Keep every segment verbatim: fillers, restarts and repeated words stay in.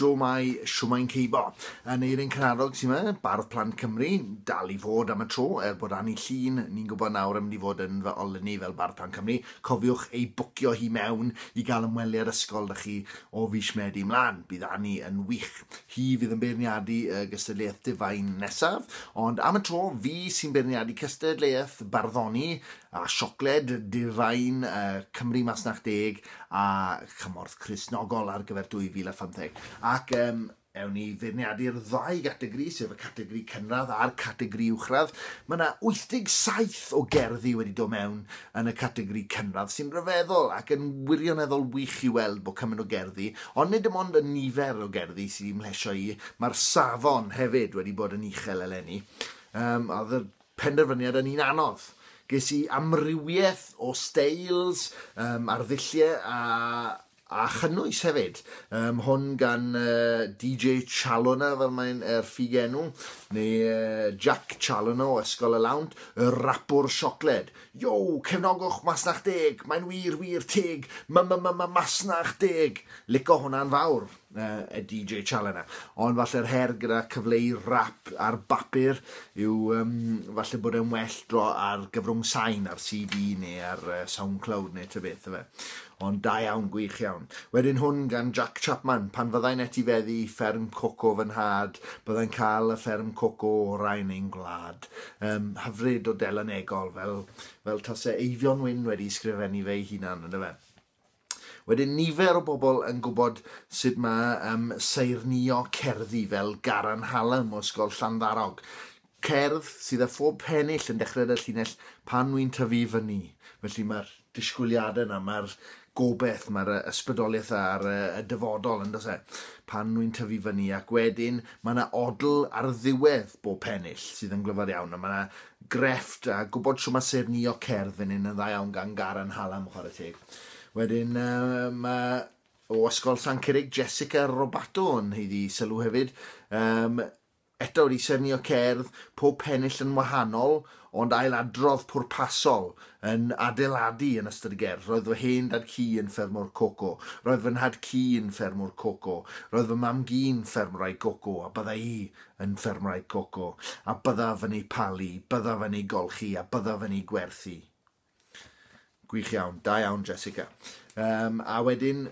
Shwmae, shwmae'n ceibo. Aneirin Karadog sy'n yma, Bardd Plant Cymru, dal i fod am y tro, er bod Anni Llun, ni'n gwybod nawr yn mynd i fod yn fy olynu fel Bardd Plant Cymru. Cofiwch ei bwcio hi mewn i gael ymweliad ysgol 'da chi o fis Medi mlaen. Bydd Anni yn wych. Hi fydd yn beirniadu y gystadleuaeth Divine nesaf, ond am y tro, fi sy'n beirniadu cystadleuaeth barddoni a siocled Divine uh, Cymru Masnach Deg a Chymorth Cristnogol ar gyfer dwy fil a phymtheg. Ac um, ewn ni feirniadu'r ddau gategori, sef y categori cynradd a'r categori uwchradd. Mae yna wyth deg saith o gerddi wedi dod mewn yn y categori cynradd, sy'n rhyfeddol ac yn wirioneddol wych i weld bod cymaint o gerddi, ond nid dim ond y nifer o gerddi sydd wedi mhlesio i, mae'r safon hefyd wedi bod yn uchel eleni. Um, oedd y penderfyniad yn un anodd. Ges i amrywiaeth o styles, um, arddulliau a, a chynnwys hefyd. Um, hwn gan uh, D J Challoner, fel mae'n er ffug enw, neu uh, Jack Challoner o Ysgol y Lawnt, y rapwr siocled. Yo, cefnogwch Masnach Deg, mae'n wir, wir teg, ma, ma, ma, ma, Masnach Deg. Lico hwnna'n fawr, uh, y D J Challoner. Ond falle'r her gyda cyfleu rap ar bapur yw um, falle bod e'n well dro ar gyfrwng sain, ar C D neu ar, uh, SoundCloud neu ta beth, yfe. Ond da iawn, gwych iawn. Wedyn hwn gan Jack Chapman, pan fyddai'n etifeddu fferm coco fy nhad, byddai'n cael y fferm coco orau yn ein gwlad. Um, hyfryd o delynegol, fel, fel tase Eifion Wyn wedi sgrifennu fe ei hunan, yndyfe. Wedyn nifer o bobl yn gwybod sut mae, um, saernïo cerddi fel Garan Hallam o Ysgol Llanddarog. Cerdd sydd â phob pennill yn dechrau y llinell pan wy'n tyfu fyny. Felly mae'r disgwyliadau yna, mae'r gobeith, mae'r ysbrydoliaeth ar y, y dyfodol, yn does e? Pan wy'n tyfu fyny, ac wedyn mae yna odl ar ddiwedd bob pennill sydd yn glyfar iawn, a mae yna grefft a gwybod shwt mae saernïo cerdd fan hyn yn dda iawn gan Garan Hallam, chwarae teg. Wedyn, uh, mae o Ysgol San Curig, Jessica Robato yn haeddu sylw hefyd. Um, eto wedi saernïo cerdd, pob pennill yn wahanol, ond ailadrodd pwrpasol yn adeiladu yn ystod y gerdd. Roedd fy hen dad ci yn ffermwr coco, roedd fy nhad ci yn ffermwr coco, roedd fy mam gi'n ffermwraig coco, a bydda i yn ffermwraig coco, a byddaf yn ei palu, byddaf yn ei golchi, a byddaf yn ei gwerthu. Gwych iawn, da iawn Jessica. Um, a wedyn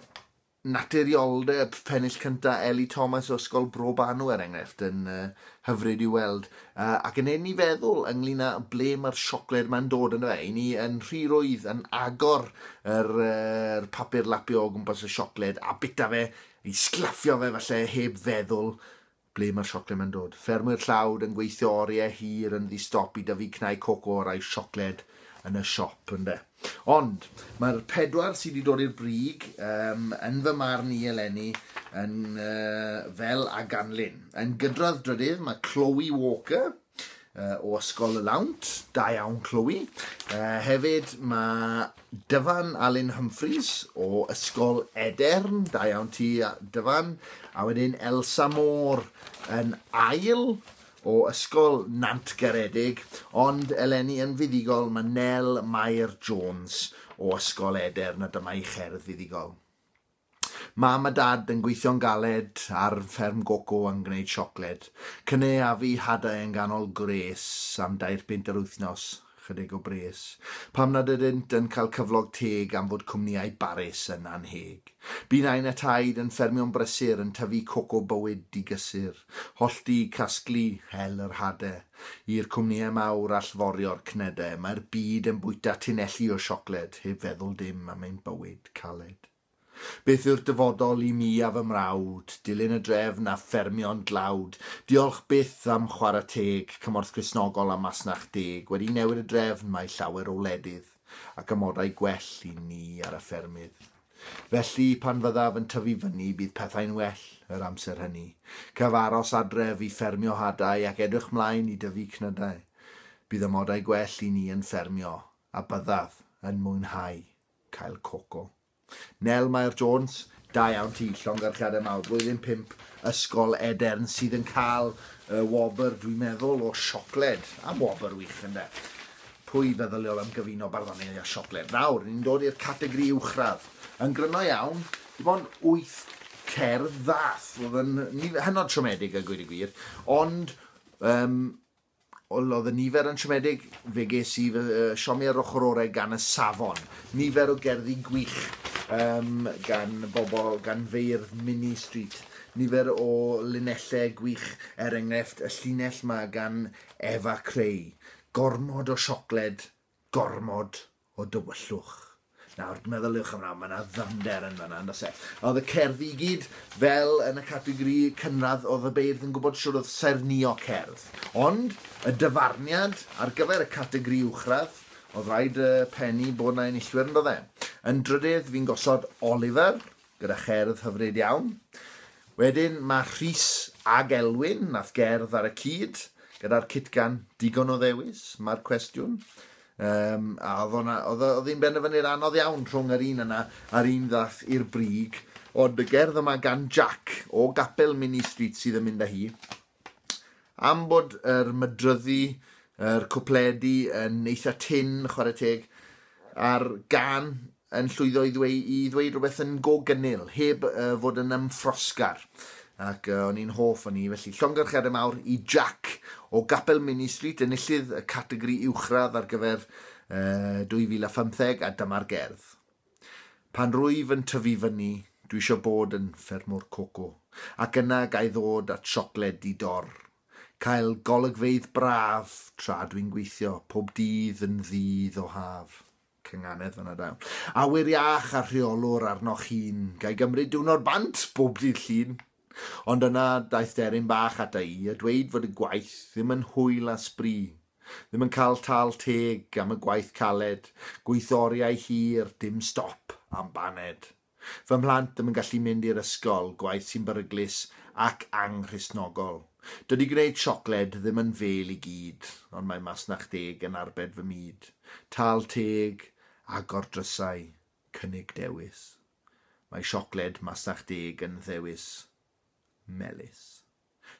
naturioldeb pennill cynta Ellie Thomas o Ysgol Bro Banw er enghraifft yn, uh, hyfryd i weld. Uh, ac yn ein i feddwl ynglyn â ble mae'r siocled ma'n dod yn fe. I ni yn rhy rwydd yn agor yr, uh, yr papur lapio o gwmpas y siocled a bita fe, i sglaffio fe falle heb feddwl ble mae'r siocled ma'n dod. Ffermwyr tlawd yn gweithio oriau hir yn ddi-stop i dyfu cnau coco o'r siocled yn y siop, ynde. Ond mae'r pedwar sydd wedi dod i'r brig, um, yn fy marn i eleni yn, uh, fel a ganlyn. Yn gydradd drydydd mae Chloe Walker, uh, o Ysgol y Lawnt, da iawn Chloe. Uh, hefyd mae Dyfan Alun Humphreys o Ysgol Edern, da iawn ti Dyfan. A wedyn Elsa Moore yn ail o Ysgol Nantgaredig, ond eleni yn fuddugol mae Nel Mair Jones o Ysgol Edern, a dyma ei cherdd fuddugol. Mam a dad yn gweithio'n galed ar fferm goco yn gwneud siocled. Cynaeafu hadau yn ganol gwres am dair punt yr wythnos, chydig o bres. Pam nad ydynt yn cael cyflog teg am fod cwmnïau barus yn anheg. Bu nain a taid yn ffermio'n brysur yn tyfu coco bywyd digysur. Hollti, casglu, hel yr hadau. I'r cwmnïau mawr allforio'r cnedau, mae'r byd yn bwyta tunelli o siocled, heb feddwl dim am ein bywyd caled. Beth yw'r dyfodol i mi a fy mrawd, dilyn y drefn a ffermio'n dlawd, diolch byth am chwarae teg, Cymorth Cristnogol a Masnach Deg, wedi newid y drefn mae llawer o wledydd, ac amodau gwell i ni ar y ffermydd. Felly, pan fyddaf yn tyfu fyny, bydd pethau'n well yr amser hynny. Caf aros adref i ffermio hadau ac edrych mlaen i dyfu cnydau. Bydd amodau gwell i ni yn ffermio, a byddaf yn mwynhau cael coco. Nel Mair Jones, da iawn ti, llongyfarchiadau mawr. Blwyddyn pump, Ysgol Edern, sydd yn cael y wobr, dwi'n meddwl, o siocled. Am wobr wych, ynde. Pwy feddyliodd am gyfuno barddoniaeth a siocled? Nawr, ni'n dod i'r categori uwchradd. Yn gryno iawn, dim ond wyth cerdd ddath. Oedd yn hynod siomedig a gweud y gwir, ond um, oedd y nifer yn siomedig, fe ges i fy uh, siomi ar ochr orau gan y safon. Nifer o gerddi gwych um, gan bobl, gan feirdd Minnie Street. Nifer o linellau gwych, er enghraifft y llinell ma gan Efa Creu. Gormod o siocled, gormod o dywyllwch. Nawr, meddyliwch am hwnna, mae yna ddyfnder yn fan'na, on'd oes e? Oedd y cerddi i gyd, fel yn y categori cynradd, oedd y beirdd yn gwybod shwt oedd saernïo cerdd. Ond, y dyfarniad ar gyfer y categori uwchradd, oedd rhaid uh, pennu bod 'na enillwyr, yn doedd e? Yn drydydd, fi'n gosod Oliver, gyda cherdd hyfryd iawn. Wedyn, mae Rhys ag Elwyn, nath gerdd ar y cyd, gyda'r cytgan "Digon o ddewis", mae'r cwestiwn. Um, a oedd hwnna, oedd oedd hi'n benderfyniad anodd iawn rhwng yr un yna a'r un ddath i'r brig. Ond y gerdd yma gan Jack o Gapel Minnie Street sydd yn mynd â hi. Am bod yr mydryddu, yr cwpledi yn eitha tyn, chwarae teg, a'r gân yn llwyddo i ddweud, i ddweud rhywbeth yn go gynnil, heb uh, fod yn ymffrosgar. Ac uh, o'n i'n hoff o'n i, felly llongyfarchiadau mawr i Jack o Gapel Minnie Street, enillydd y categori uwchradd ar gyfer uh, dwy fil a phymtheg, a dyma'r gerdd. Pan rwyf yn tyfu fyny, dwi eisiau bod yn ffermwr coco, ac yna gai ddod at siocled di dor. Cael golygfeydd braf tra dwi'n gweithio, pob dydd yn ddydd o haf. Cynganedd fyna dawn. Awyr iach a rheolwr arnoch hun, gai gymryd diwrnod bant bob dydd Llun. Ond yna daeth deryn bach ata i a dweud fod y gwaith ddim yn hwyl a sbri. Ddim yn cael tâl teg am y gwaith caled, gweithio oriau hir, dim stop am baned. Fy mhlant ddim yn gallu mynd i'r ysgol, gwaith sy'n beryglus ac anghristnogol. Dydy gwneud siocled ddim yn fêl i gyd, ond mae Masnach Deg yn arbed fy myd. Tâl teg, agor drysau, cynnig dewis. Mae siocled Masnach Deg yn ddewis melys.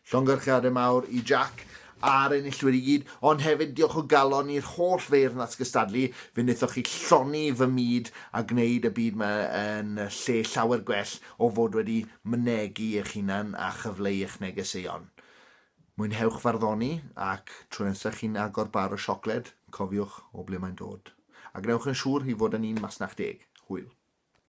Llongyfarchiadau mawr i Jack a'r enillwyr i gyd, ond hefyd diolch o galon i'r holl feirdd nath gystadlu. Fe wnaethoch chi llonni fy myd a gwneud y byd yma yn lle llawer gwell o fod wedi mynegu eich hunan a chyfleu eich negeseuon. Mwynhewch farddoni ac tro nesaf chi'n agor bar o siocled, cofiwch o ble mae'n dod. A gwnewch yn siŵr i fod yn un Masnach Deg. Hwyl.